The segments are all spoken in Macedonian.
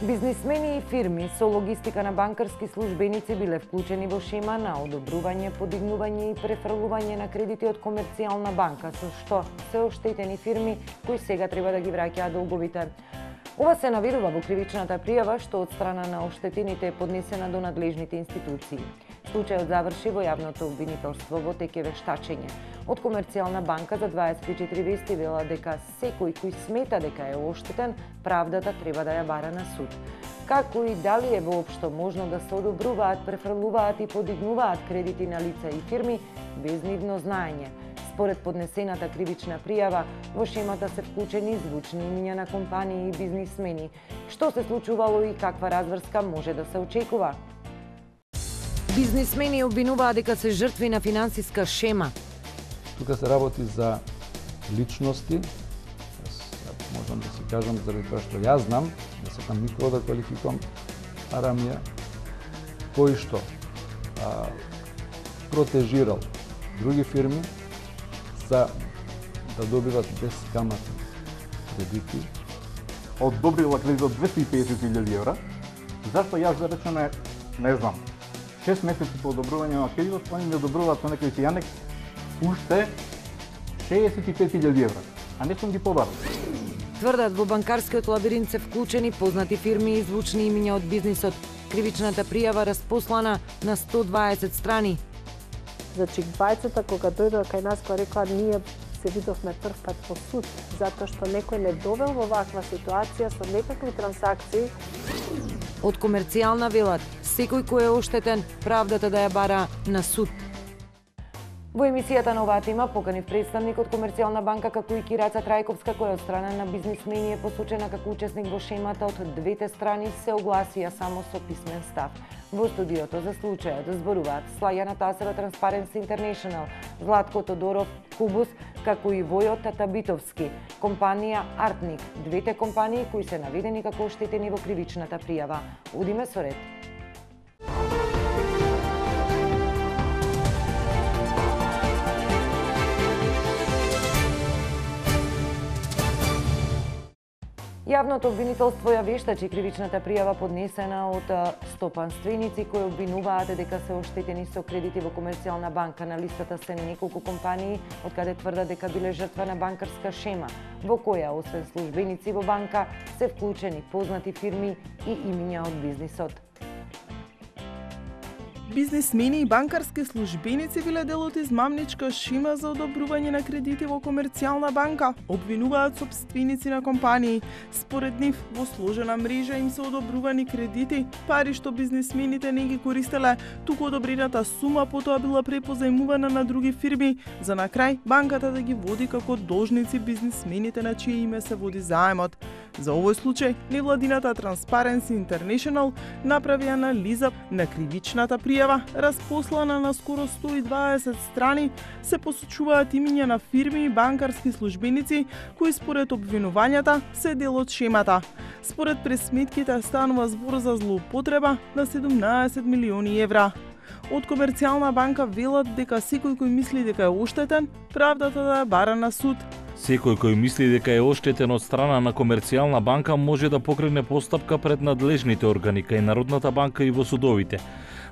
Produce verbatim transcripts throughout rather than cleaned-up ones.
Бизнисмени и фирми со логистика на банкарски службеници биле вклучени во шема на одобрување, подигнување и префрлување на кредити од комерцијална банка, со што се оштетени фирми кои сега треба да ги враќаат долговите. Ова се наведува во кривичната пријава што од страна на оштетените е поднесена до надлежните институции. Случајот заврши во јавното обвинителство во теке вештачење. Од комерцијална банка за дваесет и четири вести вела дека секој кој смета дека е оштетен, правдата треба да ја бара на суд. Како и дали е воопшто можно да се одобруваат, префрлуваат и подигнуваат кредити на лица и фирми без нивно знаење. Според поднесената кривична пријава, во шемата се вклучени звучни имиња на компании и бизнисмени. Што се случувало и каква разврска може да се очекува? Бизнисмени обвинуваат дека се жртви на финансиска шема. Тука се работи за личности, можам да си кажам заради тоа што јас знам, да сакам никого да квалификувам, Арамија, кој што а, протежирал други фирми за да добиват бескаматни кредити. Одобрила кредит од двесте и педесет илјади евра. Зашто јас да речеме, не знам, шест месеци по одобрување на кредитот, они ми одобруваат со некој Јанек уште шеесет и пет илјади евра, а не сум ги побарал. Тврдат во банкарскиот лабиринт се вклучени познати фирми и звучни имиња од бизнисот. Кривичната пријава распослана на сто дваесет страни. Значи, двајцата кога дојдоа кај нас, која рекоа, ние се видовме прв пат во суд, затоа што некој не довел во ваква ситуација со некакви трансакции. Од комерцијална велат, секој кој е оштетен, правдата да ја бара на суд. Во емисијата на оваа тема поканив представник од комерцијална банка како и Кираца Трајковска, која од страна на бизнисмени е посочена како учесник во шемата, од двете страни се огласија само со писмен став. Во студиото за случајот зборуваат Слајана Тасева, Transparency International, Златко Тодоров, Кубус, како и Војо Татабитовски, компанија Артник, двете компании кои се наведени како оштетени во кривичната пријава. Одиме со ред. Јавното обвинителство ја вештачи кривичната пријава поднесена од стопанственици кои обвинуваат дека се оштетени со кредити во комерцијална банка. На листата се неколку компании од каде тврдат дека биле жртва на банкарска шема, во која освен службеници во банка се вклучени познати фирми и имиња од бизнисот. Бизнисмени и банкарски службеници биле дел од измамничка шема за одобрување на кредити во комерцијална банка, обвинуваат сопственици на компании. Според нив, во сложена мрежа им се одобрувани кредити, пари што бизнисмените не ги користеле, туку одобрената сума потоа била препозајмувана на други фирми, за на крај банката да ги води како должници бизнисмените на чие име се води заемот. За овој случај, невладината Transparency International направи анализа на кривичната пријава, распослана на скоро сто и дваесет страни, се посочуваат имиња на фирми и банкарски службеници кои според обвинувањата се дел од шемата. Според пресметките станува збор за злоупотреба на седумнаесет милиони евра. Од комерцијална банка велат дека секој кој мисли дека е оштетен, правдата да ја бара на суд. Секој кој мисли дека е оштетен од страна на комерцијална банка може да покрене постапка пред надлежните органи кај Народната банка и во судовите.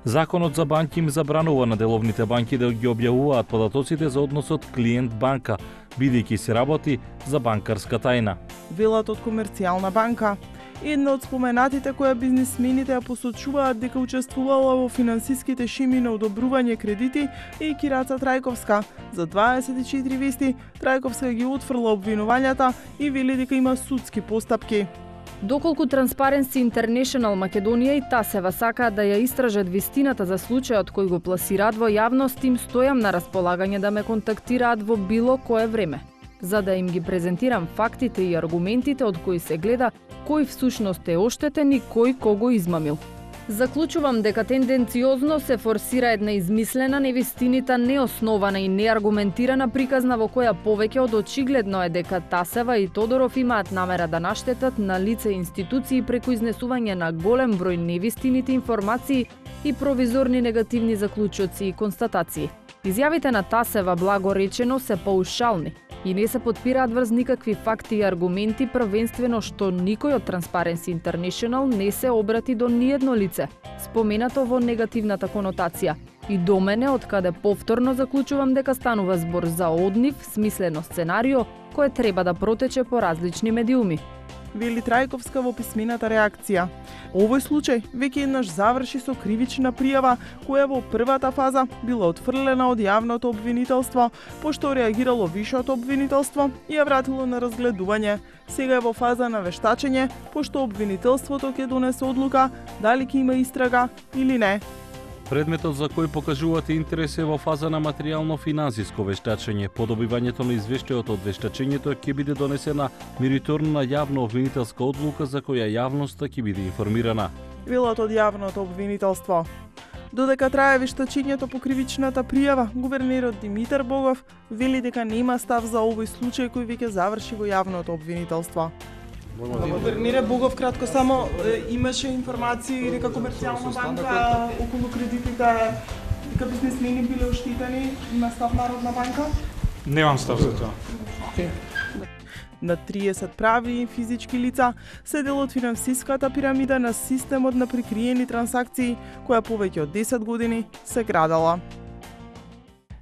Законот за банки им забранува на деловните банки да ги објавуваат податоците за односот клиент-банка, бидејќи се работи за банкарска тајна. Велат од комерцијална банка. Една од споменатите која бизнисмените ја посочуваат дека учествувала во финансиските шеми на одобрување кредити е и Кираца Трајковска. За дваесет и четири вести, Трајковска ги отфрла обвинувањата и вели дека има судски постапки. Доколку Transparency International Македонија и Тасева сакаат да ја истражат вистината за случајот кој го пласираат во јавност, им стојам на располагање да ме контактираат во било кое време, за да им ги презентирам фактите и аргументите од кои се гледа кој всушност е оштетен и кој кого измамил. Заклучувам дека тенденциозно се форсира една измислена, невистинита, неоснована и неаргументирана приказна во која повеќе од очигледно е дека Тасева и Тодоров имаат намера да наштетат на лице и институции преку изнесување на голем број невистините информации и провизорни негативни заклучоци и констатации. Изјавите на Тасева, благо речено, се паушални. и не се потпираат врз никакви факти и аргументи, првенствено што никој од Transparency International не се обрати до ниедно лице, споменато во негативната конотација. И до мене, од каде повторно заклучувам дека станува збор за однив, смислено сценарио, кое треба да протече по различни медиуми. Вели Трајковска во писмената реакција. Овој случај веќе еднаш заврши со кривична пријава, која во првата фаза била отфрлена од јавното обвинителство, пошто реагирало вишето обвинителство и ја вратило на разгледување. Сега е во фаза на вештачење, пошто обвинителството ќе донесе одлука дали ќе има истрага или не. Предметот за кој покажувате интерес е во фаза на материјално-финансиско вештачење. По добивањето на извештајот од вештачењето ќе биде донесена мериторна јавна обвинителска одлука за која јавноста ќе биде информирана. Велат од јавното обвинителство. Додека трае вештачењето по кривичната пријава, гувернерот Димитар Богов вели дека нема став за овој случај кој веќе заврши во јавното обвинителство. Гувернере Богов, кратко само, имаше информации дека Комерцијална банка околу кредитите, дека бизнисмени биле оштетени, има став Народна банка? Немам став за тоа. На триесет прави и физички лица се дел од финансиската пирамида на системот на прикриени трансакции, која повеќе од десет години се градала.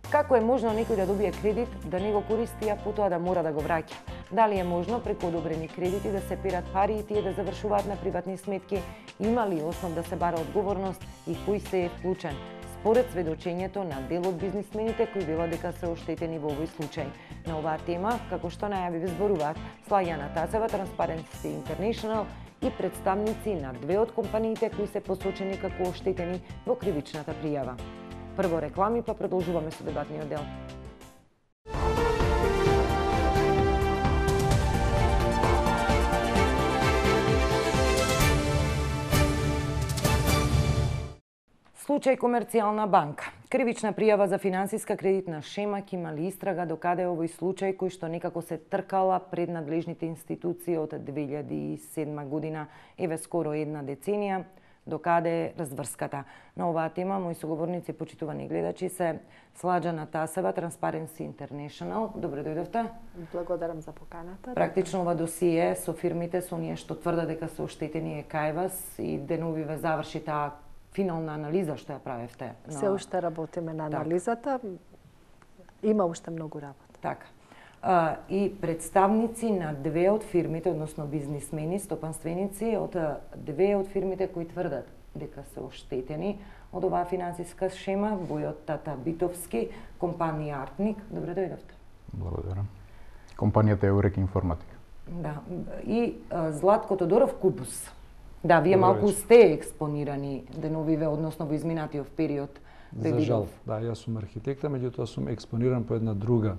Како е можно некој да добие кредит, да не го користи, а потоа да мора да го враќа? Дали е можно преку одобрени кредити да се перат пари и тие да завршуваат на приватни сметки? Има ли основ да се бара одговорност и кој се е вклучен? Според сведочењето на дел од бизнисмените кои велат дека се оштетени во овој случај. На оваа тема, како што најави зборуваат Слаѓана Тасева, Transparency International и представници на две од компаниите кои се посочени како оштетени во кривичната пријава. Прво реклами, па продолжуваме со дебатниот дел. Случај Комерцијална банка. Кривична пријава за финансиска кредитна шема ќе имали истрага докаде овој случај кој што некако се тркала пред надлежните институции од две илјади и седма година, еве скоро една деценија, докаде е разврската. На оваа тема мои соговорници, почитувани гледачи, се Слаѓана Тасева, Transparency International. Добре дојдовте. Благодарам за поканата. Практично ова досие со фирмите, со оние што тврдат дека се оштетени е кај вас и денови ве заврши таа финална анализа што ја правевте. Но... Се уште работиме на анализата. Има уште многу работа. Така. А, и представници на две од фирмите, односно бизнисмени, стопанственици од две од фирмите кои тврдат дека се оштетени од оваа финансиска шема, Војот Тата Битовски, компанија Артник. Добре дојдовте. Благодарам. Компанијата е Eurek Информатика. Да. И а, Златко Тодоров Кубус. Да, вие малку сте експонирани деновиве, односно во изминатиот период. За жал, да, јас сум архитекта, меѓутоа сум експониран по една друга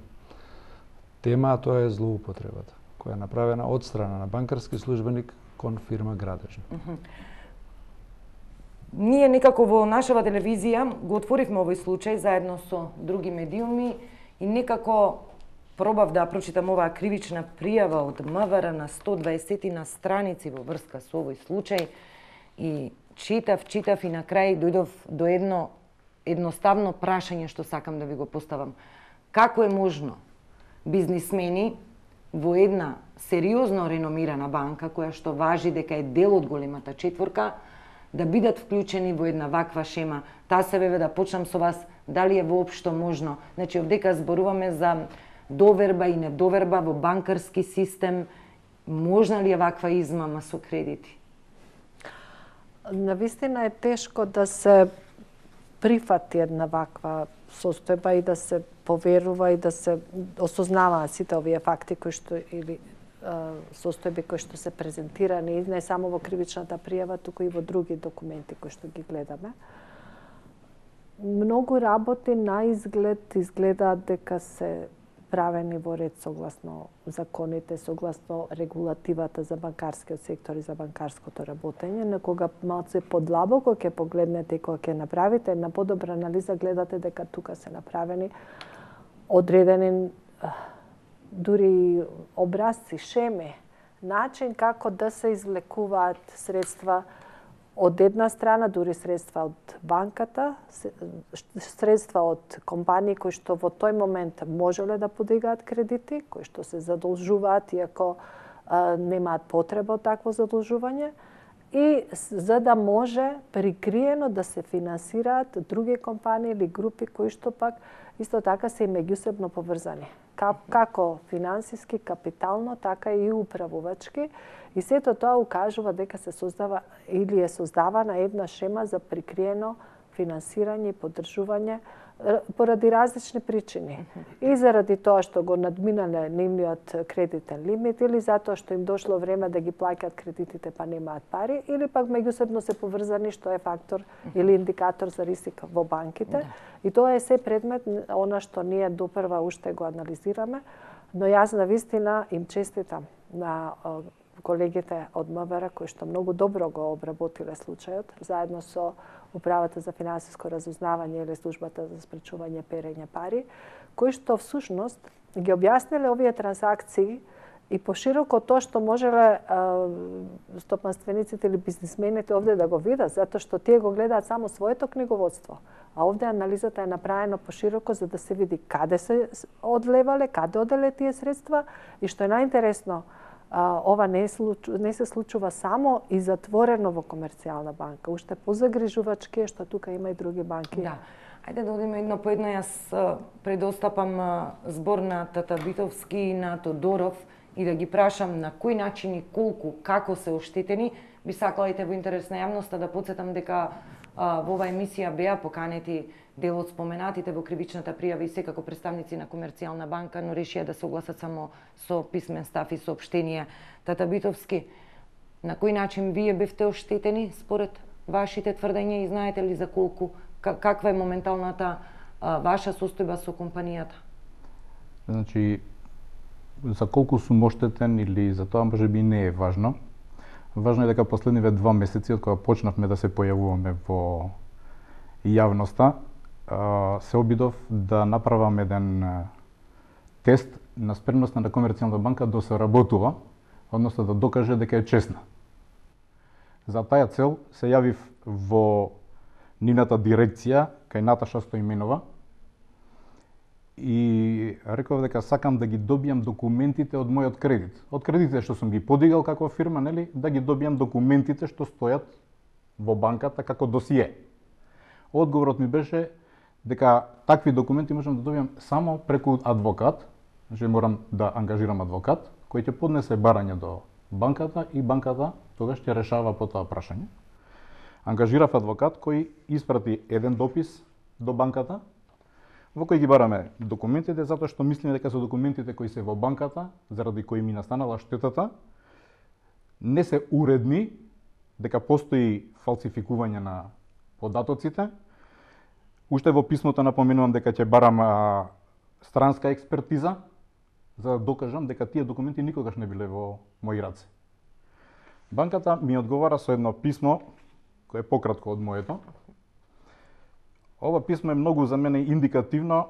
тема, а тоа е злоупотребата, која е направена од страна на банкарски службеник кон фирма Градежна. Uh -huh. Ние некако во нашава телевизија го отворивме овој случај заедно со други медиуми и некако пробав да прочитам оваа кривична пријава од МВР на сто дваесет на страници во врска со овој случај и читав, читав и на крај дојдов до едно едноставно прашање што сакам да ви го поставам. Како е можно бизнисмени во една сериозно реномирана банка, која што важи дека е дел од големата четворка, да бидат вклучени во една ваква шема? Таа се беве да почнам со вас, дали е воопшто можно? Значи, овдека зборуваме за доверба и недоверба во банкарски систем. Можна ли е ваква измама со кредити? Навистина е тешко да се прифати една ваква состојба и да се поверува и да се осознаваат сите овие факти кои што или а, состојби кои што се презентирани не само во кривичната пријава, туку и во други документи кои што ги гледаме. Многу работи на изглед изгледаат дека се правени во ред согласно законите, согласно регулативата за банкарскиот сектор и за банкарското работење, на кога малце подлабоко ќе погледнете и кога ќе направите една подобра анализа, гледате дека тука се направени одредени дури образци, шеми, начин како да се извлекуваат средства од една страна дури средства од банката, средства од компании кои што во тој момент можеле да подигаат кредити, кои што се задолжуваат иако а, немаат потреба од такво задолжување, и за да може прикриено да се финансираат други компании или групи кои што пак исто така се и меѓусебно поврзани. Како финансиски, капитално, така и управувачки. И сето тоа укажува дека се создава или е создавана една шема за прикриено финансирање и поддржување поради различни причини. И заради тоа што го надминале нивниот кредитен лимит, или затоа што им дошло време да ги плаќаат кредитите па немаат пари, или пак меѓусебно се поврзани, што е фактор или индикатор за рисик во банките. И тоа е се предмет она што ние допрва уште го анализираме, но јас на вистина им честитам на колегите од МВР кои што многу добро го обработиле случајот, заедно со Управата за финансиско разузнавање или Службата за спречување перење пари, кои што всушност ги објасниле овие трансакции и пошироко тоа што можеле стопанствениците или бизнисмените овде да го видат, затоа што тие го гледаат само своето книговодство. А овде анализата е направена пошироко за да се види каде се одлевале, каде оделе тие средства и што е најинтересно, ова не, случу, не се случува само и затворено во комерцијална банка. Уште позагрижувачки е што тука има и други банки. Да. Ајде да одиме едно по едно. Јас предостапам збор на Тата Битовски и на Тодоров и да ги прашам на кој начин и колку, како се оштетени. Би сакала и те во интерес на јавноста да потсетам дека а, во оваа емисија беа поканети дел од споменатите во кривичната пријава и секако представници на комерцијална банка, но решија да се огласат само со писмен став и соопштение. Тата Битовски, на кој начин вие бевте оштетени според вашите тврдења и знаете ли за колку, каква е моменталната а, ваша состојба со компанијата? Значи, за колку сум оштетен или за тоа можеби не е важно. Важно е дека последниве два месеци од кога почнавме да се појавуваме во јавноста, се обидов да направам еден тест на спремноста на комерцијална банка да се работува, односно да докаже дека е честна. За таа цел се јавив во нивната дирекција кај Наташа Стоименова и реков дека сакам да ги добијам документите од мојот кредит. Од кредитите што сум ги подигал како фирма, нели, да ги добијам документите што стојат во банката како досие. Одговорот ми беше дека такви документи можам да добијам само преку адвокат, значи морам да ангажирам адвокат кој ќе поднесе барање до банката и банката тогаш ќе решава по тоа прашање. Ангажирав адвокат кој испрати еден допис до банката во кој ги бараме документите, затоа што мислиме дека со документите кои се во банката, заради кои ми настанала штетата, не се уредни, дека постои фалсификување на податоците. Уште во писмото напоменувам дека ќе барам а, странска експертиза, за да докажам дека тие документи никогаш не биле во мои раце. Банката ми одговара со едно писмо, кое е пократко од моето. Ова писмо е многу за мене индикативно,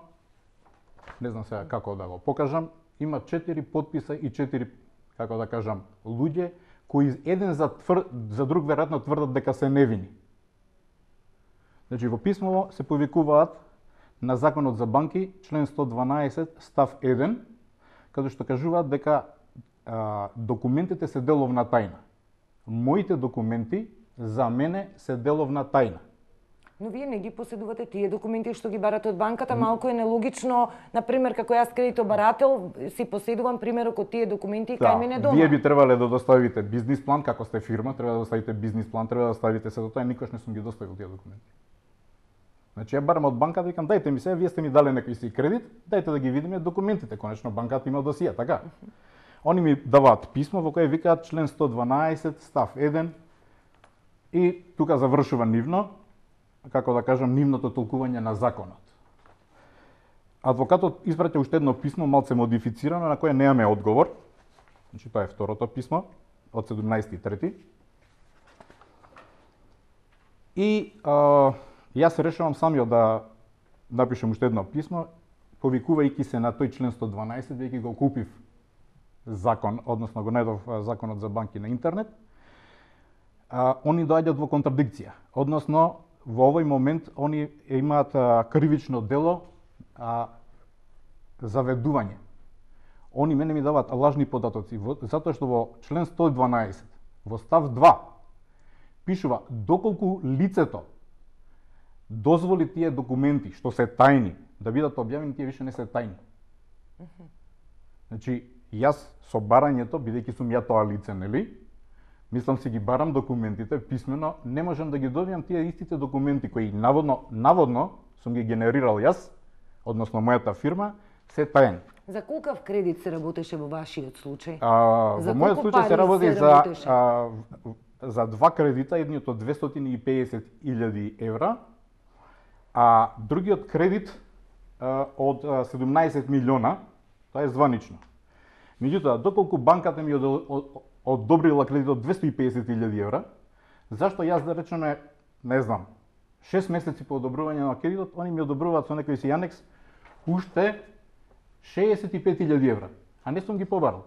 не знам сега како да го покажам, има четири подписа и четири, како да кажам, луѓе, кои еден за, твр... за друг веројатно тврдат дека се невини. Значи, во писмово се повикуваат на Законот за банки, член сто дванаесет, став еден, каде што кажуваат дека а, документите се деловна тајна. Моите документи за мене се деловна тајна. Но вие не ги поседувате тие документи што ги барате од банката, малку е нелогично, например, како јас кредитобарател си поседувам примерок од тие документи да, кај мене дома. Вие би требале да доставите бизнис план, како сте фирма, треба да доставите бизнис план, треба да ставите се до тоа, никош не сум ги доставил тие документи. Значи ја барам од банката и викам дајте ми се, вие сте ми дали некој си кредит, дајте да ги видиме документите, конечно банката има досија, така. Они ми даваат писмо во кое викаат член сто дванаесет, став еден и тука завршува нивно, како да кажам, нивното толкување на законот. Адвокатот испраќа уште едно писмо, малце модифицирано, на кое немаме одговор. Значи, тоа е второто писмо, од седумнаесети трети. И а, јас се решавам самиот да напишем уште едно писмо, повикувајќи се на тој член сто дванаесет, веќе го купив закон, односно го најдов законот за банки на интернет. а, они доаѓаат во контрадикција. Односно, во овој момент они имаат а, кривично дело а, заведување. Они мене ми даваат лажни податоци, затоа што во член сто и дванаесет, во став два, пишува доколку лицето дозволи тие документи, што се тајни, да бидат објавени, тие више не се тајни. Значи, јас со барањето, бидејќи сум ја тоа лице, нели, мислам си ги барам документите писмено, не можам да ги добијам тие истите документи кои наводно, наводно сум ги генерирал јас, односно мојата фирма, се тајни. За колкав кредит се работеше во вашиот случај? А, За во мојот колку случај се пари работи се за работеше? а, за два кредита, едниот од двестоти и педесет илјади евра, а другиот кредит а, од а, седумнаесет милиона, тоа е званично. Меѓутоа, доколку банката ми од- од- одобрила кредит од двесто и педесет илјади евра, зашто јас да речеме, не знам, шест месеци по одобрување на кредитот, они ми одобруваат со некој си анекс уште шеесет и пет илјади евра, а не сум ги побарал.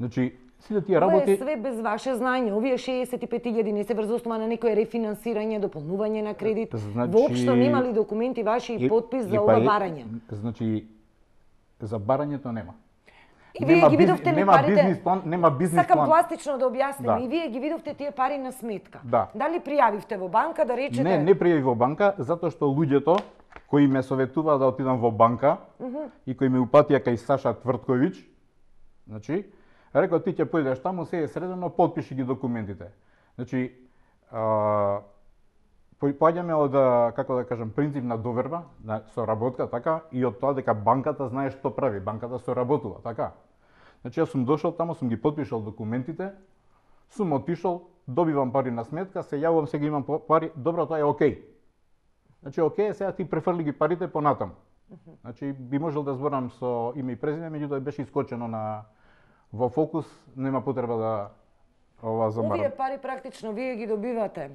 Значи, сите тие Ова е работи... све без ваше знање. Овие шеесет и пет илјади не се врз основа на некое рефинансирање, дополнување на кредит. Значи- Воопшто нема ли документи ваши и подпис за и ова па е- барање? Значи, за барањето нема. И вие Нема ги биз- видовте ли нема парите? бизнис план, нема бизнис Сакам план. пластично да објасним. Да. И вие ги видовте тие пари на сметка. Да. Дали пријавивте во банка да речете? Не, не пријави во банка, затоа што луѓето кои ме советуваа да отидам во банка и кои ме упатија кај Саша Твртковиќ, значи, рекол ти ќе појдеш таму, се е средено, потпиши ги документите. Значи, а, по- поаѓаме од, а, како да кажам, принцип на доверба, на соработка, така, и од тоа дека банката знае што прави, банката соработува, така. Значи, јас сум дошол таму, сум ги потпишал документите, сум отишол, добивам пари на сметка, се јавувам, сега имам по- пари, добро, тоа е окей. Значи, окей, сега ти префрли ги парите понатаму. Значи, би можел да зборам со име и презиме, меѓутоа беше искочено на во фокус, нема потреба да ова замарам. Овие пари практично вие ги добивате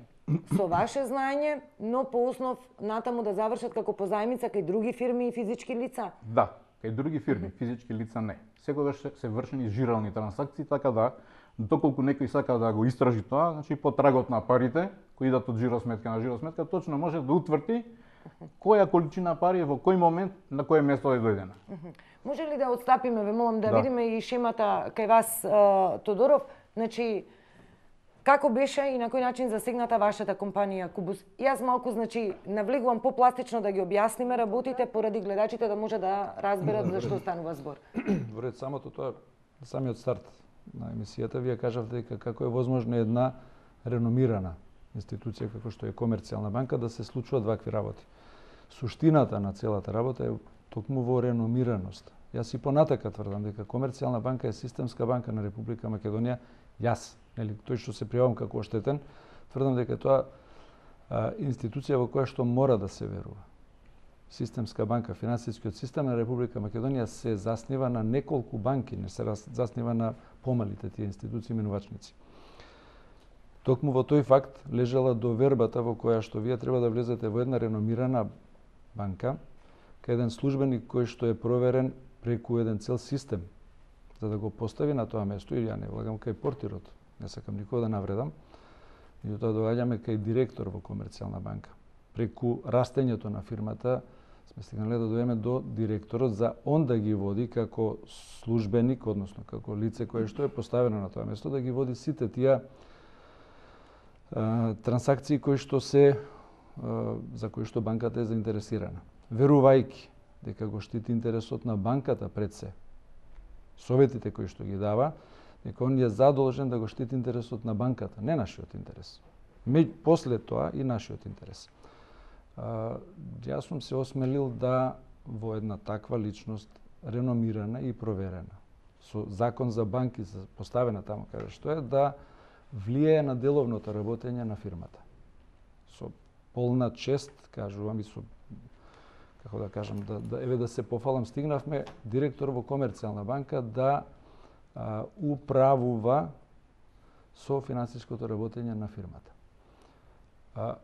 со ваше знаење, но по основ натаму да завршат како позајмица кај други фирми и физички лица. Да, кај други фирми, физички лица не. Секогаш се, се вршени жирални трансакции, така да доколку некој сака да го истражи тоа, значи по трагот на парите кои идат од жиросметка на жиросметка, точно може да утврди која количина пари во кој момент на кое место е дојдена. Може ли да отстапиме, ве молам да, Да. видиме и шемата кај вас, а, Тодоров, значи како беше и на кој начин засегната вашата компанија Кубус? Јас малку, значи, навлегувам попластично да ги објасниме работите поради гледачите да може да разберат за што станува збор. Во ред, самото тоа, самиот старт на емисијата, вие кажавте дека како е возможно една реномирана институција како што е Комерцијална банка да се случуваат вакви работи. Суштината на целата работа е токму во реномираност. Јас и понатака тврдам дека Комерцијална банка е системска банка на Република Македонија. Јас, нели, тој што се пријавам како оштетен, тврдам дека тоа а, институција во која што мора да се верува. Системска банка, финансискиот систем на Република Македонија се заснива на неколку банки, не се заснива на помалите тие институции менувачници. Токму во тој факт лежала довербата во која што вие треба да влезете во една реномирана банка, кај еден службеник кој што е проверен преку еден цел систем, за да го постави на тоа место, и ја не влагам кај портирот, не сакам никога да навредам, и тоа доаѓаме кај директор во Комерцијална банка. Преку растењето на фирмата сме стигнале да дојдеме до директорот за он да ги води како службеник, односно како лице кое што е поставено на тоа место, да ги води сите тие а, трансакции кои што се а, за кои што банката е заинтересирана. Верувајќи дека го штити интересот на банката пред се, советите кои што ги дава, дека он е задолжен да го штити интересот на банката, не нашиот интерес. Меѓу после тоа и нашиот интерес. А, јас сум се осмелил да во една таква личност, реномирана и проверена, со закон за банки поставена таму каде што е, да влијае на деловното работење на фирмата. Со полна чест, кажувам, и со, како да кажам, да, да еве да се пофалам, стигнавме директор во Комерцијална банка да а, управува со финансиското работење на фирмата. А,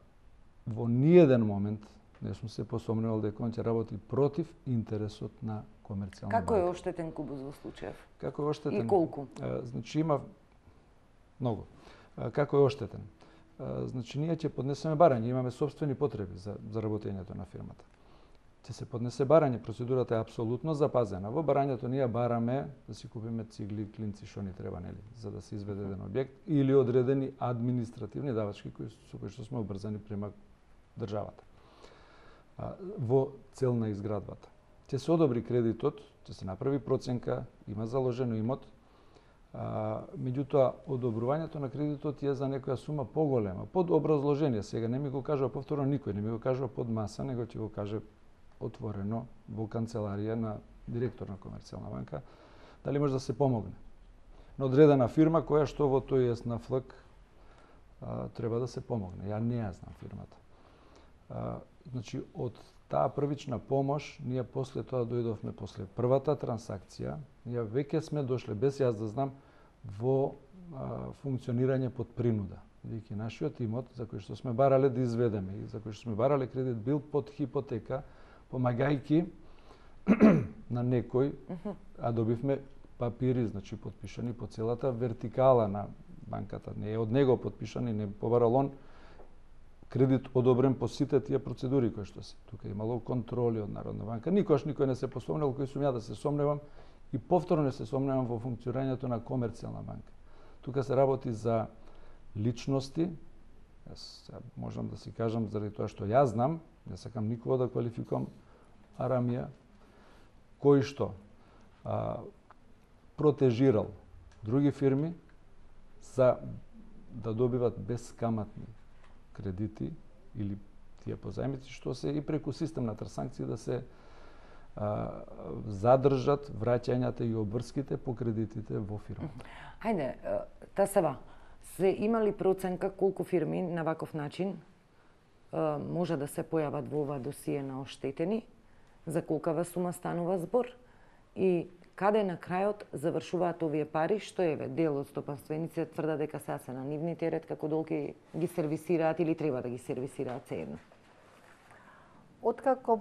во ниеден момент не сум се посомнувал дека он ќе работи против интересот на Комерцијална банка. Како е оштетен Кубус во случајов? Како е оштетен? И колку? А, значи има Многу. Како е оштетен? Значи, ние ќе поднесеме барање, имаме собствени потреби за, за работењето на фирмата. Ќе се поднесе барање, процедурата е апсолутно запазена. Во барањето ние бараме да си купиме цигли, клинци, што ни треба, нели, за да се изведе еден објект, или одредени административни давачки кои со кои што сме обрзани према државата. Во цел на изградбата. Ќе се одобри кредитот, ќе се направи проценка, има заложено имот, а, меѓутоа одобрувањето на кредитот е за некоја сума поголема, под образложение. Сега не ми го кажува повторно никој, не ми го кажува под маса, него ќе го каже отворено во канцеларија на директор на Комерцијална банка, дали може да се помогне на одредена фирма која што во тој ЕСНАФЛК треба да се помогне. Ја не ја знам фирмата. А, значи, од таа првична помош, ние после тоа дојдовме после првата трансакција, ние веќе сме дошле, без јас да знам, во а, функционирање под принуда. Бидејќи нашиот имот, за кој што сме барале да изведеме и за кој што сме барале кредит, бил под хипотека, помагајќи на некој, а добивме папири, значи подпишани по целата вертикала на банката. Не е од него подпишани, не побарал он кредит одобрен по сите тие процедури кои што се. Тука имало контроли од Народна банка. Никош никој не се посомнел, кој сум ја да се сомневам и повторно не се сомневам во функционирањето на Комерцијална банка. Тука се работи за личности. Јас можам да си кажам заради тоа што јас знам, не сакам никого да квалификувам Арамија, кој што а, протежирал други фирми за да добиват безкаматни кредити или тие позајмици, што се и преку систем на трансакции да се а, задржат враќањата и обврските по кредитите во фирмата. Хајде, Тасева, се имали проценка колку фирми на ваков начин може да се појават во ова досие на оштетени, за колкава сума станува збор и каде на крајот завршуваат овие пари, што еве дел од стопанствениците тврда дека сега се на нивни терет, како долги ги сервисираат или треба да ги сервисираат сеедно? Откако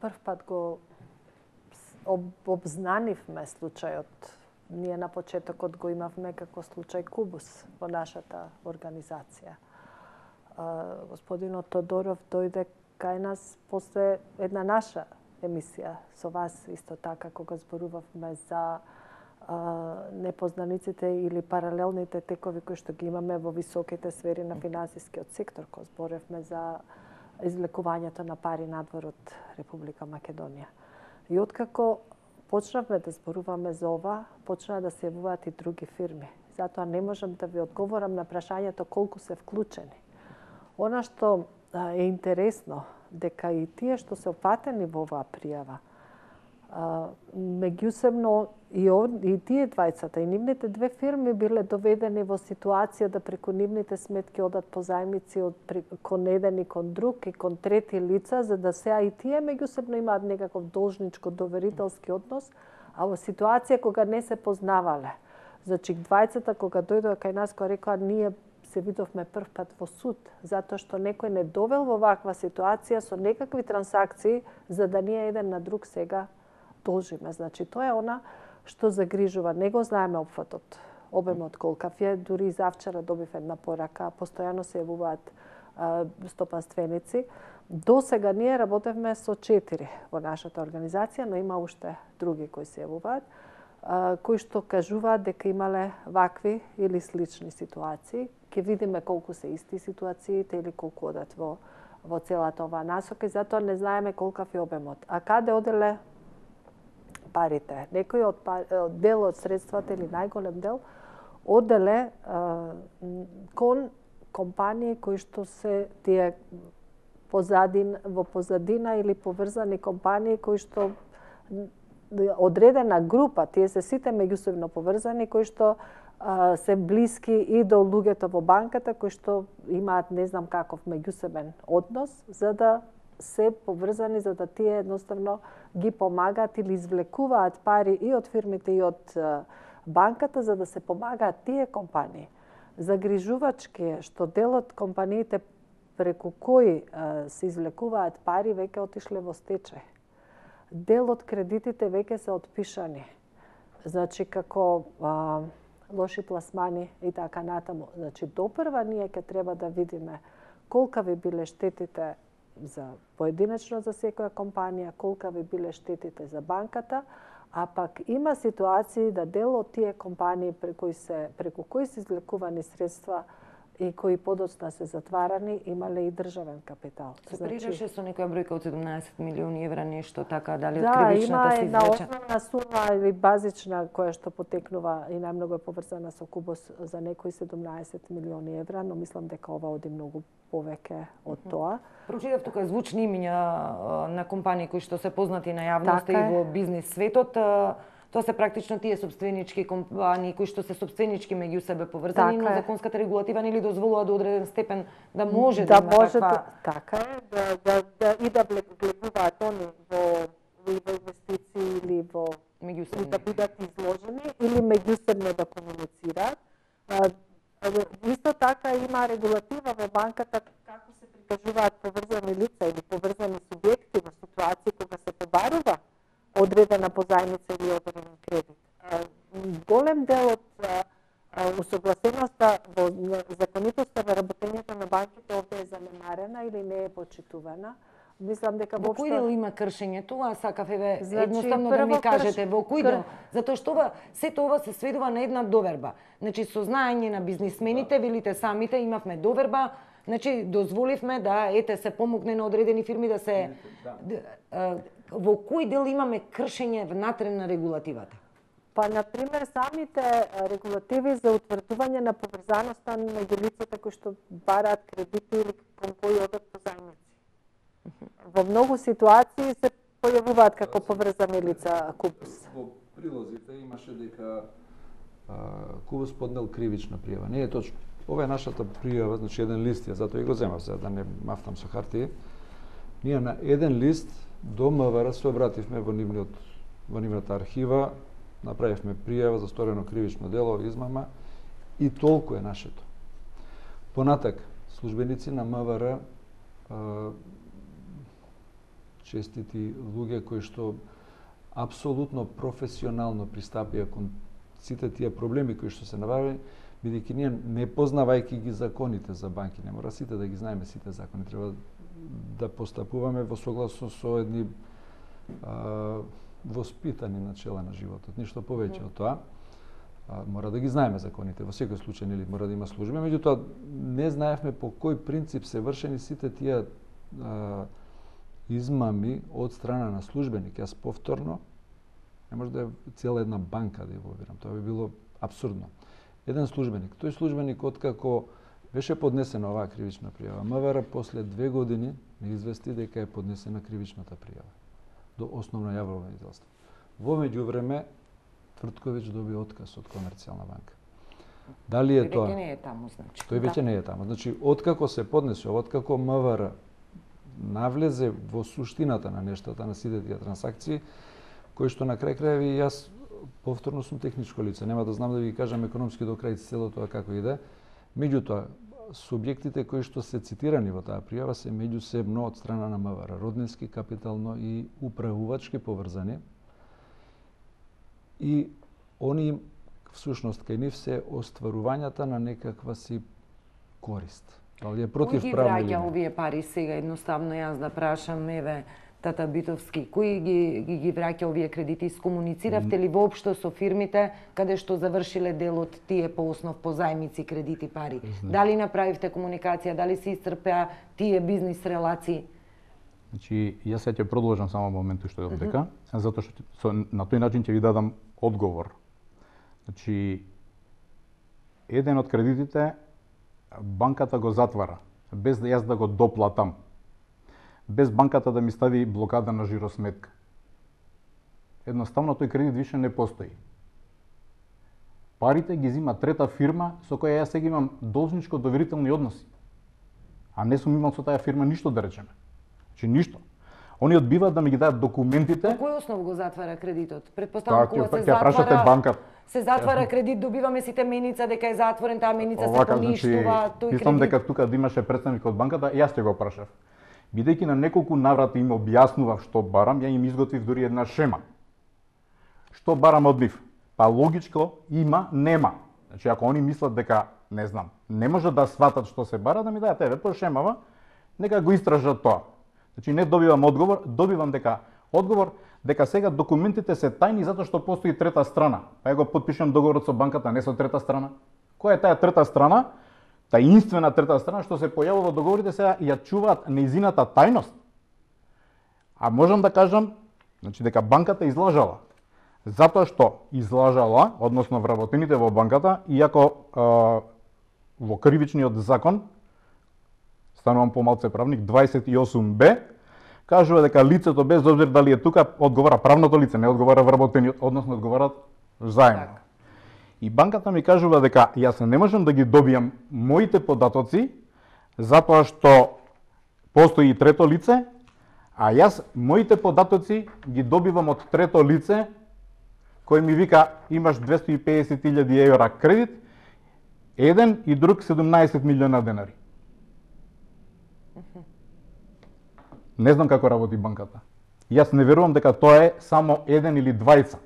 прв пат го обзнанивме случајот, ние на почетокот го имавме како случај Кубус во нашата организација. Господинот Тодоров дојде кај нас после една наша емисија со вас исто така кога зборувавме за а, непознаниците или паралелните текови кои што ги имаме во високите сфери на финансискиот сектор, кога зборевме за извлекувањето на пари надвор од Република Македонија. И откако почнавме да зборуваме за ова, почнаа да се јавуваат и други фирми. Затоа не можам да ви одговорам на прашањето колку се вклучени. Она што е интересно, дека и тие што се опатени во оваа пријава, меѓусебно и, и тие двајцата и нивните две фирми биле доведени во ситуација да преку нивните сметки одат позајмици од кон еден и кон друг и кон трети лица, за да сега и тие меѓусебно имаат некаков должничко доверителски однос, а во ситуација кога не се познавале. Значи, двајцата кога дојдоа кај нас, кога рекоа ние се видовме прв пат во суд, затоа што некој не довел во ваква ситуација со некакви трансакции, за да ние еден на друг сега должиме. Значи, тоа е она што загрижува. Не го знаеме опфатот, обемот колкав е. Дури и завчера добив една порака, постојано се јавуваат стопанственици. До сега ние работевме со четири во нашата организација, но има уште други кои се јавуваат, кои што кажуваат дека имале вакви или слични ситуации. Ке видиме колку се исти ситуациите или колку одат во, во целата оваа насока и затоа не знаеме колкав е обемот. А каде оделе парите? Некој од пар... дел од средствата или најголем дел оделе а, кон компании кои што се тие позадин, во позадина или поврзани компании кои што одредена група, тие се сите меѓусебно поврзани, кои што а, се блиски и до луѓето во банката, кои што имаат не знам каков меѓусебен однос, за да се поврзани, за да тие едноставно ги помагаат или извлекуваат пари и од фирмите и од а, банката, за да се помагаат тие компании. Загрижувачки е што дел од компаниите преку кои а, се извлекуваат пари веќе отишле во стечај. Дел од кредитите веќе се отпишани. Значи, како а, лоши пласмани и така натаму. Значи, допрва ние ќе треба да видиме колка би биле штетите за поединечно за секоја компанија, колка би биле штетите за банката, а пак има ситуации да дел од тие компании преку кои се преку кои се излекувани средства и кои подоцна се затварани, имале и државен капитал. Се прираше со некоја бројка од седумнаесет милиони евра, нешто така, дали од да, кривичната се извлече? Да, има една основна сума или базична која што потекнува и најмногу е поврзана со Кубос за некои седумнаесет милиони евра, но мислам дека ова оди многу повеќе од тоа. Прочитав тука звучни имиња на компании кои што се познати на јавноста така и во бизнис светот. Тоа се практично тие сопственички компании кои што се сопственички меѓу себе поврзани, така но е. законската регулатива нели дозволува до одреден степен да може да, да, има може таква... да, така е, да, да, да, и да влегуваат они во, во инвестиции или во меѓусебно да бидат изложени или меѓусебно да комуницираат. Исто така има регулатива во банката како се прикажуваат поврзани лица или поврзани субјекти во ситуации кога се побарува одредена позајмица или одреден кредит. Голем дел од усогласеноста во законитоста во работењето на банките овде е занемарена или не е почитувана. Мислам дека во кој дел има кршење тоа, сакав еве значи, едноставно да ми кажете во кој дел, затоа што ова сето ова се сведува на една доверба. Значи со знаење на бизнисмените, велите самите, имавме доверба, значи дозволивме да ете се помогне на одредени фирми да се да. Во кој дел имаме кршење внатре на регулативата? Па, например, самите регулативи за утврдување на поврзаноста меѓу лицата кои што бараат кредити или кон кои одат позајмици. Во многу ситуации се појавуваат како поврзани лица Кубос. Во прилозите имаше дека а, Кубос поднел кривична пријава. Не е точно. Ова е нашата пријава, значи еден лист ја, затоа и го земав за да не мафтам со хартија. Ние на еден лист до МВР се обративме во нивниот во нивната архива, направивме пријава за сторено кривично дело, измама и толку е нашето. Понатак, службеници на МВР а, честити луѓе кои што апсолутно професионално пристапија кон сите тие проблеми кои што се наварени, бидејќи ние не познавајќи ги законите за банки, не мора сите да ги знаеме сите закони, треба да постапуваме во согласно со едни а, воспитани начела на животот, ништо повеќе од тоа. А, мора да ги знаеме законите, во секој случај нели мора да има служби, меѓутоа не знаевме по кој принцип се вршени сите тие а, измами од страна на службеник. Јас повторно не може да е цела една банка да ја вовирам, тоа би било апсурдно. Еден службеник, тој службеник откако беше поднесена оваа кривична пријава, МВР после две години не извести дека е поднесена кривичната пријава до основно јавно обвинителство. Во меѓувреме Твртковиќ доби отказ од Комерцијална банка. Дали е тоа? Веќе не е таму, значи. Тој веќе не е таму. Значи, откако се поднесе, откако МВР навлезе во суштината на нештата, на сите тие трансакции, кои што на крај крајеви јас повторно сум техничко лице, нема да знам да ви кажам економски до крај цело тоа како иде. Меѓутоа, субјектите кои што се цитирани во таа пријава се меѓусебно од страна на МВР, роднински, капитално и управувачки поврзани. И они всушност кај нив се остварувањата на некаква си корист. Дали е против правно или не? Кој ги враќа не? овие пари сега едноставно јас да прашам, еве, Тата Битовски, кој ги, ги, ги враќа овие кредити? Искомунициравте ли воопшто со фирмите каде што завршиле дел од тие по основ по зајмици, кредити, пари? Не. Дали направивте комуникација, дали се исцрпеа тие бизнис релации? Значи, јас ќе продолжам само моментот што е дека, затоа што со, на тој начин ќе ви дадам одговор. Значи, еден од кредитите банката го затвара, без да јас да го доплатам, без банката да ми стави блокада на жиросметка. Едноставно тој кредит више не постои. Парите ги зима трета фирма со која јас сега имам должничко доверителни односи. А не сум имал со таа фирма ништо да речеме. Значи ништо. Они одбиваат да ми ги дадат документите. По кој основ го затвара кредитот? Предпоставам кога се ќе прашате банката. Се затвара кредит, добиваме сите меница дека е затворен, таа меница се поништува, тој кредит. Мислам дека тука да имаше представник од банката, јас ќе го прашав. Бидејќи на неколку наврати им објаснував што барам, ја им изготвив дури една шема. Што барам од нив? Па логичко има, нема. Значи, ако они мислат дека, не знам, не може да сватат што се бара, да ми дајат еве по шемава, нека го истражат тоа. Значи, не добивам одговор, добивам дека одговор дека сега документите се тајни затоа што постои трета страна. Па ја го потпишам договорот со банката, не со трета страна. Која е таа трета страна? Таинствена трета страна што се појавува во договорите, сега ја чуваат нејзината тајност. А можам да кажам, значи дека банката излажала. Затоа што излажала, односно вработените во банката, иако а, во кривичниот закон, станувам помалце правник, дваесет и осум б, кажува дека лицето без обзир дали е тука, одговара правното лице, не одговара вработениот, односно одговарат заедно. Так. И банката ми кажува дека јас не можам да ги добијам моите податоци, затоа што постои и трето лице, а јас моите податоци ги добивам од трето лице, кој ми вика имаш двесто и песет илјади евра кредит, еден и друг седумнаесет милиона денари. Не знам како работи банката. Јас не верувам дека тоа е само еден или двајца.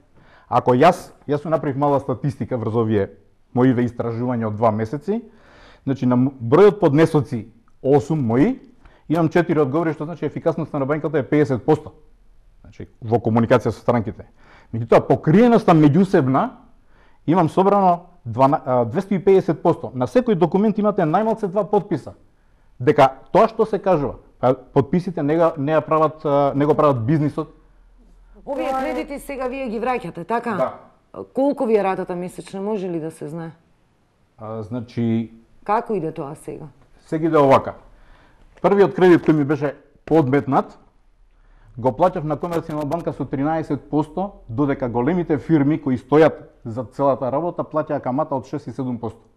Ако јас, јас се направив мала статистика врз овие моиве истражувања од два месеци, значи на бројот поднесоци осум мои, имам четири одговори, што значи ефикасноста на банката е педесет проценти. Значи во комуникација со странките. Меѓутоа покриеноста меѓусебна имам собрано двесто и педесет проценти. На секој документ имате најмалце два подписа. Дека тоа што се кажува, подписите не го не ја прават не го прават бизнисот. Овие кредити сега вие ги враќате, така? Да. Колку ви е ратата месечна, може ли да се знае? А, значи како иде тоа сега? Сега иде овака. Првиот кредит кој ми беше подметнат, го плаќав на Комерцијална банка со тринаесет проценти, додека големите фирми кои стојат за целата работа плаќаа камата од шест и седум проценти.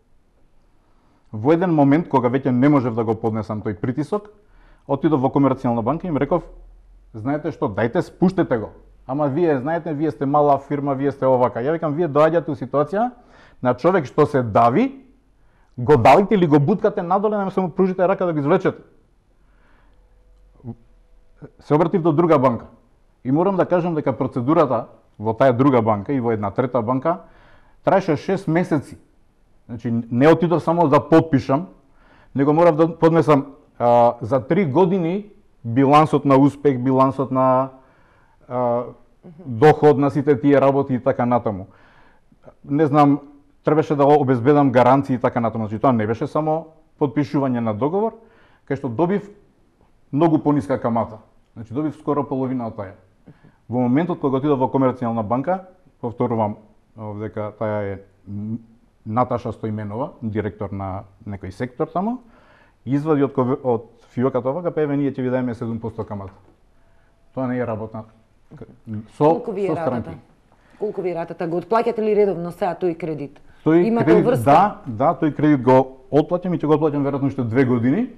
Во еден момент, кога веќе не можев да го поднесам тој притисок, отидов во Комерцијална банка и им реков, знаете што, дајте спуштете го. Ама вие знаете, вие сте мала фирма, вие сте овака. Ја викам, вие доаѓате у ситуација на човек што се дави, го далите или го буткате надоле, нема се му пружите рака да го извлечете. Се обратив до друга банка. И морам да кажам дека процедурата во таа друга банка и во една трета банка траеше шест месеци. Значи, не отидов само да подпишам, него морав да поднесам а, за три години билансот на успех, билансот на а, доход на сите тие работи и така натаму. Не знам, требаше да обезбедам гаранции и така натаму. Значи, тоа не беше само подпишување на договор, кај што добив многу пониска камата. Значи, добив скоро половина од таја. Во моментот кога отидов во Комерцијална банка, повторувам дека таа е Наташа Стојменова, директор на некој сектор тамо, извади од, од фиоката овака, па еве ние ќе ви даеме седум проценти камата. Тоа не е работа со, Колку ви е со ратата? Колку ви е ратата? Го отплаќате ли редовно сега тој кредит? Тој Имате кредит, врска? да, да, тој кредит го отплаќам и ќе го отплаќам веројатно уште две години.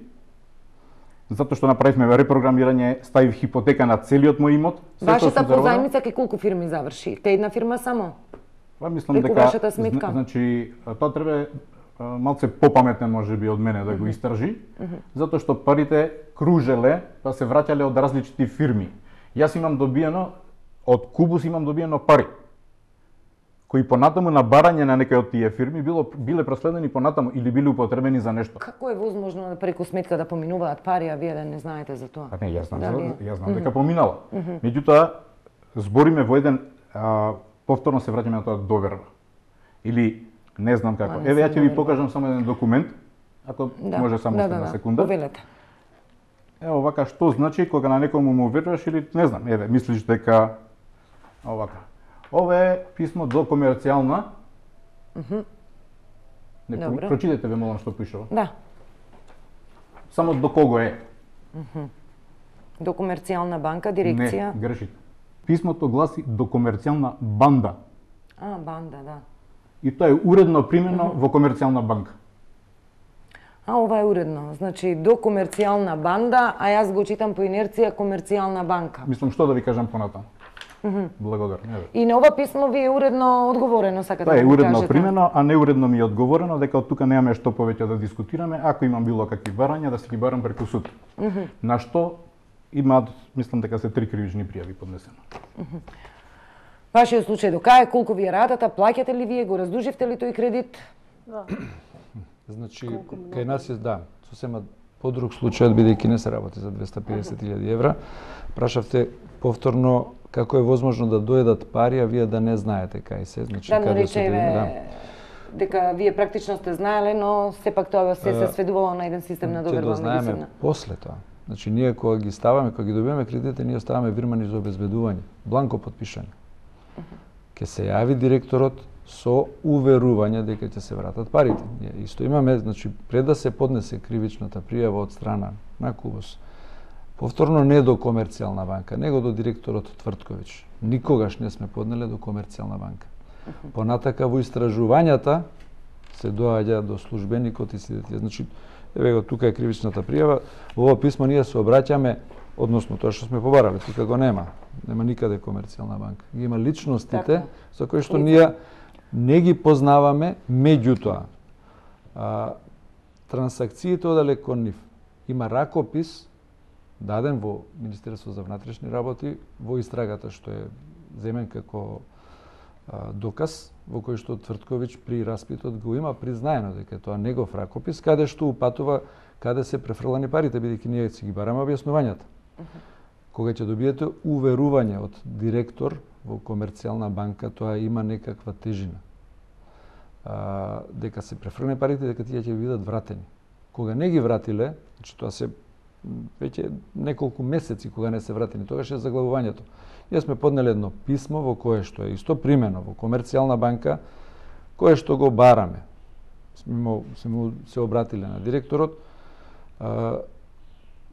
Затоа што направивме репрограмирање, ставив хипотека на целиот мој имот. Вашата позајмица кај колку фирми заврши? Те една фирма само? Па мислам Преку дека вашата сметка? Значи тоа треба малце попаметен можеби од мене да го истражи, затоа што парите кружеле, па се враќале од различити фирми. Јас имам добиено од Кубус имам добиено пари кои понатаму на барање на некој од тие фирми било биле проследени понатаму или биле употребени за нешто. Како е возможно да преку сметка да поминуваат пари, а вие да не знаете за тоа? Па не, јас знам, Дали... јас знам дека поминала. Меѓутоа збориме во еден а, повторно се враќаме на тоа доверба. Или не знам како. Еве ја ќе ви покажам само еден документ, ако да. може само да, една да, да. секунда. Повелете. Ево овака што значи кога на некому му веруваш или не знам, еве мислиш дека овака. Ова е писмо до Комерцијална. Мхм. Не Добро. прочитете ве молам што пишува. Да. Само до кого е? Мхм. До Комерцијална банка, дирекција. Не, грешите. Писмото гласи до Комерцијална банда. А, банда, да. И тоа е уредно примено во Комерцијална банка. А, ова е уредно. Значи, до Комерцијална банда, а јас го читам по инерција Комерцијална банка. Мислам што да ви кажам понатаму. Mm-hmm. Благодарам. Еве. И на ова писмо ви е уредно одговорено, сакате да, да е ми уредно кажете? примено, а неуредно ми е одговорено дека од тука немаме што повеќе да дискутираме, ако имам било какви барања да се ги барам преку суд. Mm-hmm. На што имаат, мислам дека се три кривични пријави поднесено. Mm-hmm. Вашиот случај до кај, колку ви е ратата, плаќате ли вие, го раздуживте ли тој кредит? Да. Значи, кај нас е, да, сосема подруг случај, бидејќи не се работи за двеста и педесет илјади евра. Прашавте повторно како е возможно да дојдат пари, а вие да не знаете кај се, значи да, каде се речеме, да. дека вие практично сте знаеле, но сепак тоа се се сведувало на еден систем на доверба меѓусебна. После тоа. Значи ние кога ги ставаме, кога ги добиваме кредитите, ние ставаме вирмани за обезбедување, бланко потпишани. Ке се јави директорот со уверување дека ќе се вратат парите. Ние исто имаме, значи пред да се поднесе кривичната пријава од страна на КУБОС, повторно не до Комерцијална банка, него до директорот Твртковиќ. Никогаш не сме поднеле до Комерцијална банка. Понатака во истражувањата се доаѓа до службеникот и следите. Значи, еве го тука е кривичната пријава, во ова писмо ние се обраќаме, односно тоа што сме побарале, тука го нема. Нема никаде Комерцијална банка. Ги има личностите така, за кои што ние не ги познаваме, меѓутоа а, трансакциите оделе кон нив. Има ракопис даден во Министерство за внатрешни работи во истрагата што е земен како а, доказ, во кој што Твртковиќ при распитот го има признаено дека тоа негов ракопис, каде што упатува каде се префрлани парите, бидејќи ние си ги бараме објаснувањата. Uh -huh. Кога ќе добиете уверување од директор во Комерцијална банка, тоа има некаква тежина. А, дека се префрлани парите, дека тие ќе бидат вратени. Кога не ги вратиле, значи тоа се веќе неколку месеци кога не се вратени, тогаш е заглавувањето. Ние сме поднели едно писмо во кое што е исто примено во Комерцијална банка, кое што го бараме. Сме, сме се обратиле на директорот, а,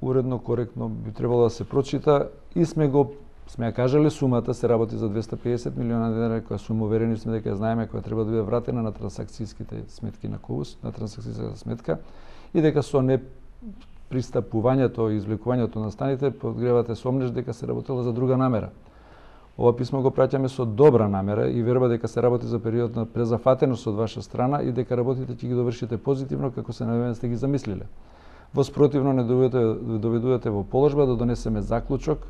уредно, коректно би требало да се прочита и сме го сме ја кажале сумата се работи за двеста и педесет милиона денари, која сума уверени сме дека знаеме која треба да биде вратена на трансакцијските сметки на КУБОС, на трансакцијската сметка и дека со не пристапувањето и извлекувањето на станите подгревате сомнеш дека се работело за друга намера. Ова писмо го праќаме со добра намера и верба дека се работи за период на презафатеност од ваша страна и дека работите ќе ги довршите позитивно како се навеме сте ги замислиле. Во спротивно не доведувате, доведувате во положба да донесеме заклучок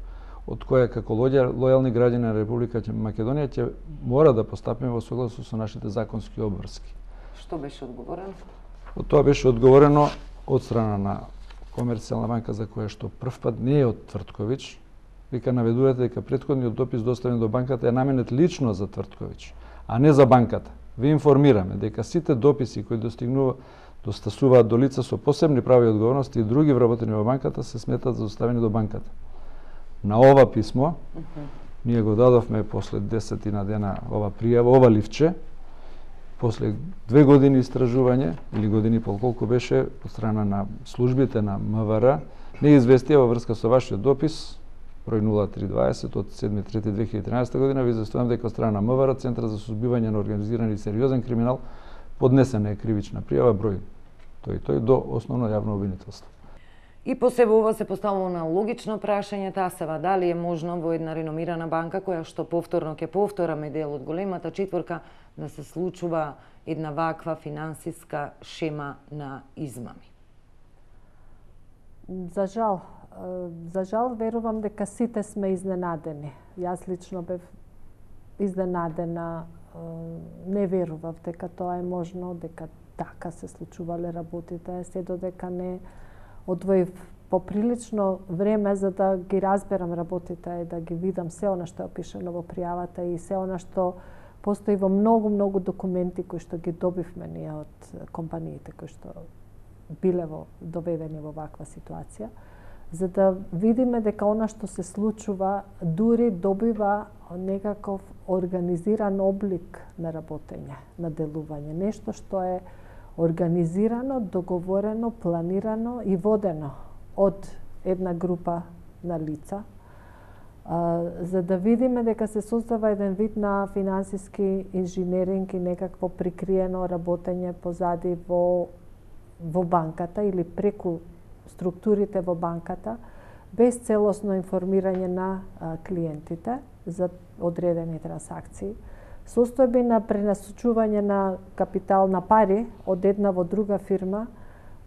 од која како лојални граѓани на Република Македонија ќе мора да постапиме во согласно со нашите законски обврски. Што беше одговорено? Од тоа беше одговорено од страна на Комерцијална банка, за која што првпат не е од Твртковиќ, вика наведувате дека претходниот допис доставен до банката е наменет лично за Твртковиќ, а не за банката. Ви информираме дека сите дописи кои достигнува достасуваат до лица со посебни прави и одговорности и други вработени во банката се сметат за доставени до банката. На ова писмо, uh -huh. ние го дадовме после десетина дена ова пријава, ова ливче, после две години истражување, или години и пол колку беше, од страна на службите на МВР, не известија во врска со вашиот допис, број нула три дваесет од седми трети две илјади и тринаесетта година, ви известувам дека од страна на МВР, Центар за сузбивање на организиран и сериозен криминал, поднесена е кривична пријава број тој тој до основно јавно обвинителство. И по себе ова се поставува на логично прашање, Тасева, дали е можно во една реномирана банка која што повторно ќе повтораме дел од големата четворка да се случува една ваква финансиска шема на измами? За жал, за жал верувам дека сите сме изненадени. Јас лично бев изненадена, не верував дека тоа е можно, дека така се случувале работите, се додека не одвоив поприлично време за да ги разберам работите и да ги видам се она што е опишано во пријавата и се она што постои во многу, многу документи кои што ги добивме ние од компаниите кои што биле во, доведени во ваква ситуација, за да видиме дека она што се случува дури добива некаков организиран облик на работење, на делување, нешто што е организирано, договорено, планирано и водено од една група на лица, а, за да видиме дека се создава еден вид на финансиски инженеринг и некакво прикриено работење позади во, во банката или преку структурите во банката, без целосно информирање на а, клиентите за одредени трансакции, состојби на пренасочување на капитал на пари од една во друга фирма,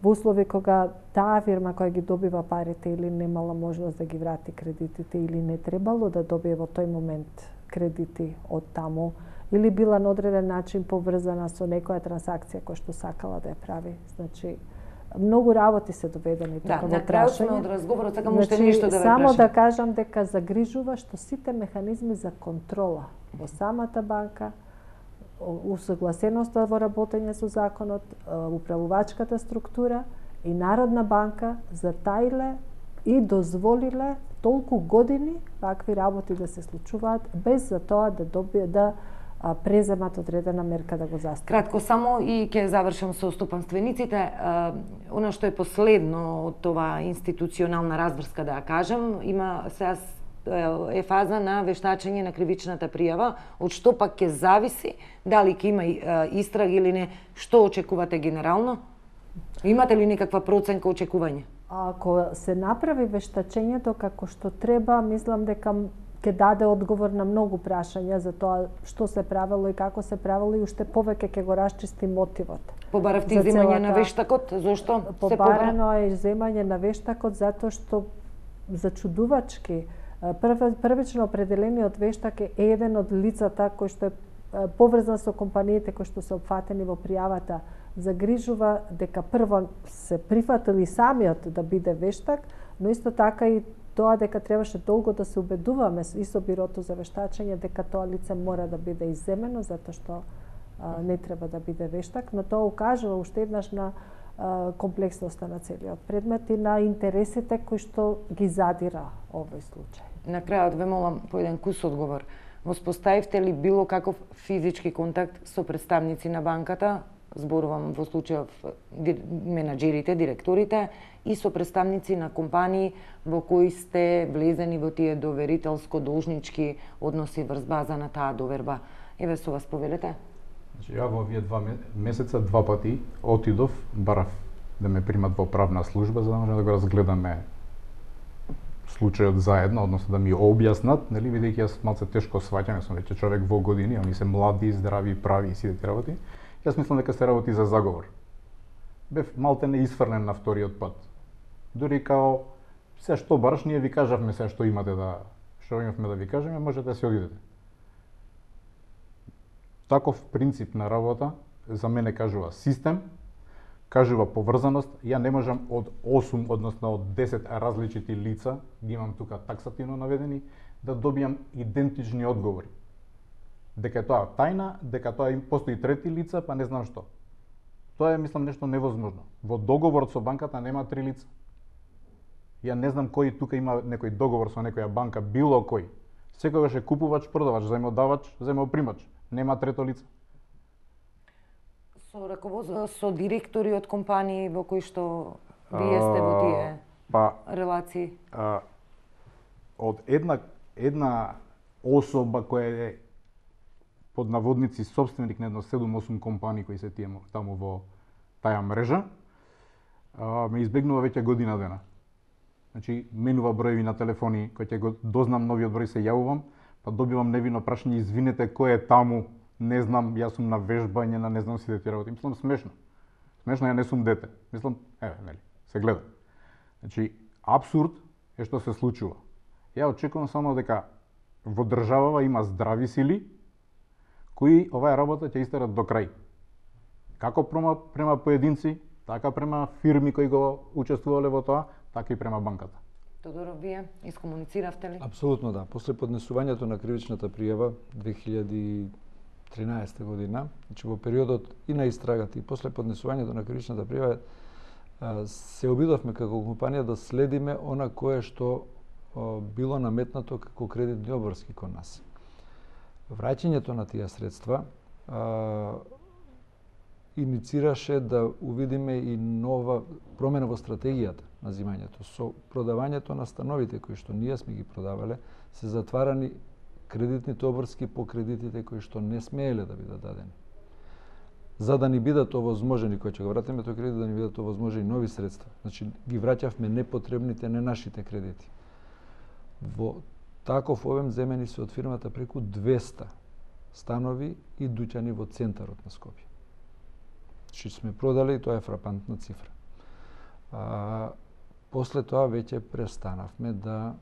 во услови кога таа фирма која ги добива парите или немала можност да ги врати кредитите или не требало да добие во тој момент кредити од таму, или била на одреден начин поврзана со некоја трансакција која што сакала да ја прави. Значи, многу работи се доведени да, тука во прашање. Да, на крајот сме од разговорот, сакам уште значи, нешто да ве само прашам. да кажам дека загрижува што сите механизми за контрола во самата банка, усогласеноста во работење со законот, управувачката структура и Народна банка затаиле и дозволиле толку години вакви работи да се случуваат без за тоа да добие да преземат одредена мерка да го застават. Кратко само и ќе завршам со стопанствениците. Она што е последно од това институционална разврска, да ја кажам, има сега е фаза на вештачење на кривичната пријава, од што пак ќе зависи дали ќе има истрага или не. Што очекувате генерално? Имате ли некаква проценка очекување? Ако се направи вештачењето како што треба, мислам дека ќе даде одговор на многу прашања за тоа што се правело и како се правело и уште повеќе ќе го расчисти мотивот. Побаравте земање на вештакот? Зошто се побара? Побарано е земање на вештакот затоа што зачудувачки првично определениот вештак е еден од лицата кој што е поврзан со компаниите кои што се опфатени во пријавата. Загрижува дека прво се прифатили самиот да биде вештак, но исто така и тоа дека требаше долго да се убедуваме и со бирото за вештачење дека тоа лице мора да биде изземено затоа што а, не треба да биде вештак, но тоа укажува уште еднаш на а, комплексноста на целиот предмет и на интересите кои што ги задира овој случај. На крајот ве молам по еден кус одговор. Воспоставивте ли било каков физички контакт со представници на банката, зборувам во случајов менаџерите, директорите, и со представници на компании во кои сте влезени во тие доверителско-должнички односи врз база на таа доверба? Еве со вас повелете. Значи, ја во овие два месеца два пати отидов, барав да ме примат во правна служба за да може да го разгледаме случајот заедно, односно да ми објаснат, нели, бидејќи јас малце тешко сваќам, сум веќе човек во години, они се млади, здрави, прави и сите тие работи. Јас мислам дека се работи за заговор. Бев малте не изфрлен на вториот пат. Дури као се што бараш, ние ви кажавме се што имате да што имавме да ви кажеме, можете да се одидете. Таков принцип на работа за мене кажува систем, кажува поврзаност. Ја не можам од осум, односно од десет различити лица, ги имам тука таксативно наведени, да добијам идентични одговори. Дека е тоа тајна, дека тоа им постои трети лица, па не знам што. Тоа е, мислам, нешто невозможно. Во договорот со банката нема три лица. Ја не знам кој тука има некој договор со некоја банка, било кој. Секогаш е купувач, продавач, заемодавач, заемопримач. Нема трето лице. Со раководство, со директори од компании во кои што вие сте во тие па, релации? А, од една, една особа која е под наводници собственик на едно седум-осум компании кои се тие таму во таа мрежа, а, ме избегнува веќе година дена. Значи, менува броеви на телефони, кој ќе го дознам новиот број се јавувам, па добивам невино прашање, извинете, кој е таму, не знам, јас сум на вежбање, на не знам сите тие работи. Мислам, смешно. Смешно, ја не сум дете. Мислам, еве, нели, се гледа. Значи, абсурд е што се случува. Ја очекувам само дека во државава има здрави сили, кои оваа работа ќе истерат до крај. Како према, према поединци, така према фирми кои го учествувале во тоа, така и према банката. Тодоров, вие искомунициравте ли? Апсолутно да. После поднесувањето на кривичната пријава две илјади и тринаесета година, значи во периодот и на истрагата и после поднесувањето на кривичната пријава се обидовме како компанија да следиме она кое што било наметнато како кредитни обврски кон нас. Враќањето на тие средства а, иницираше да увидиме и нова промена во стратегијата на земањето. Со продавањето на становите кои што ние сме ги продавале, се затварани кредитните обврски по кредитите кои што не смееле да бидат дадени. За да ни бидат овозможени, кои ќе го вратиме тој кредит, да ни бидат овозможени нови средства. Значи, ги враќавме непотребните, не нашите кредити. Во таков обем земени се од фирмата преку двеста станови и дуќани во центарот на Скопје. Значи сме продали и тоа е фрапантна цифра. А, после тоа веќе престанавме да,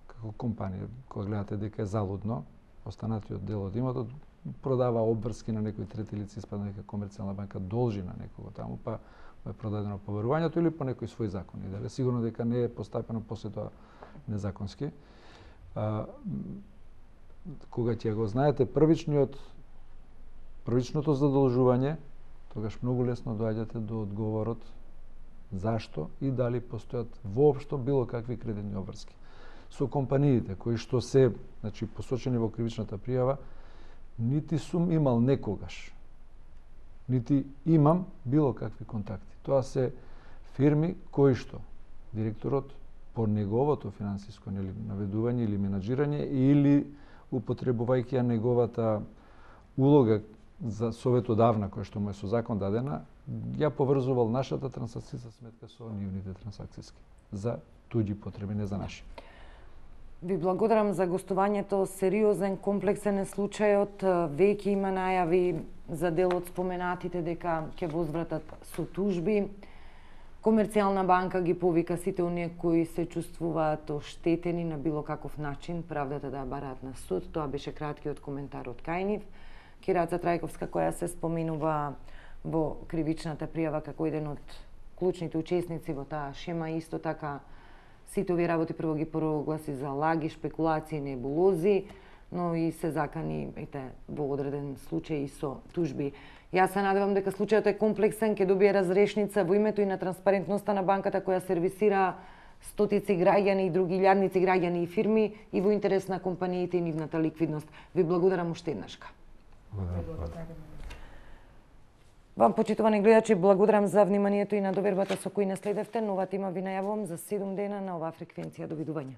како компанија, кога гледате дека е залудно, останатиот дел од имотот, продава обврски на некој трети лице, испадна дека комерцијална банка должи на некого таму, па е продадено поверувањето или по некој свој закон. И дали сигурно дека не е постапено после тоа незаконски. А, кога ќе го знаете првичниот првичното задолжување, тогаш многу лесно доаѓате до одговорот зашто и дали постојат воопшто било какви кредитни обврски. Со компаниите кои што се, значи, посочени во кривичната пријава, нити сум имал некогаш, нити имам било какви контакти. Тоа се фирми кои што директорот по неговото финансиско наведување или менаџирање или употребувајќи ја неговата улога за советодавна која што му е со закон дадена, ја поврзувал нашата трансакцијска сметка со нивните трансакцијски за туѓи потреби, не за наши. Ви благодарам за гостувањето. Сериозен, комплексен е случајот. Веќе има најави за дел од споменатите дека ќе возвратат со тужби. Комерцијална банка ги повика сите оние кои се чувствуваат оштетени на било каков начин, правдата да бараат на суд. Тоа беше краткиот коментар од кај нив. Кираца Трајковска, која се споменува во кривичната пријава како еден од клучните учесници во таа шема, исто така сите овие работи прво ги прогласи за лаги, шпекулации, небулози, но и се закани ете, во одреден случај и со тужби. Јас се надевам дека случајот е комплексен, ќе добие разрешница во името и на транспарентноста на банката која сервисира стотици граѓани и други илјадници граѓани и фирми и во интерес на компаниите и нивната ликвидност. Ви благодарам уште еднашка. Вам, почитувани гледачи, благодарам за вниманието и на довербата со кој наследевте. Нова тема ви најавувам за седум дена на оваа фреквенција. Довидување.